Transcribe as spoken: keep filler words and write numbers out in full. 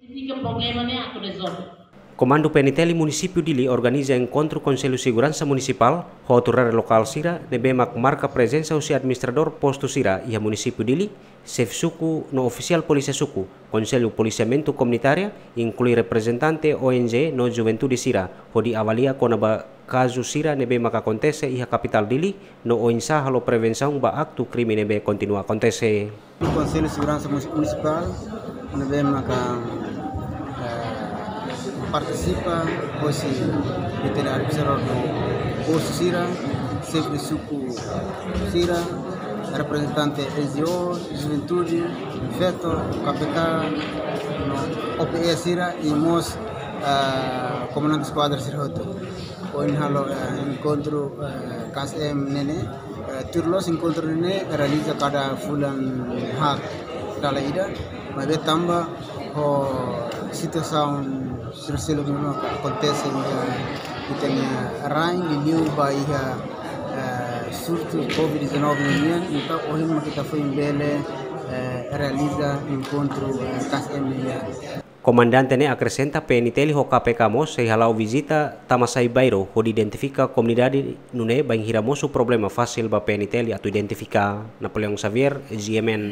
Ini ke problema ne'e atu rezolve. Komandu P N T L Munisípiu Dili organiza enkontru Konsellu Seguransa Munisipál ho autoridade lokál sira ne'ebé mak marka prezensa husi administradór postu sira iha Munisípiu Dili, xefe suku no ofisiál polísia suku, Konsellu Polisiamentu Komunitária, inklui reprezentante O N G no juventude sira, hodi avalia kona-ba kazu sira ne'ebé maka akontese iha kapitál Dili, no oinsá halo prevensaun ba aktu krime ne'ebé kontinua akontese. Konsellu Seguransa Munis-, Munisipál ne'ebé maka, eh, partisipa hosi P T L administradór no postu sira, xefe suku sira, reprezentante N G O, juventude, feto, K P K, no O P E sira, i mós, eh, komandante eskuadra sira hotu. Ohin halo, eh, enkontru, eh, K S M ne'e ne'e, eh, tuir loos enkontru ne'e ne'e realiza kada fulan haat dala ida, maibé tanba ho situasaun sira seluk ne'ebé akontese iha ita-nia rain, liuliu ba iha, eh, surtu covid dezanove nian, entaun ohin mak ita foin bele, eh, realiza enkontru, eh, K S M nian. Komandante ne'e akresenta P N T L ho K P K mós sei hala'o vizita tama sai bairru hodi identifika komunidade nune'e bainhira mosu problema fasil ba P N T L atu identifika. Napoleão Xavier, G M N.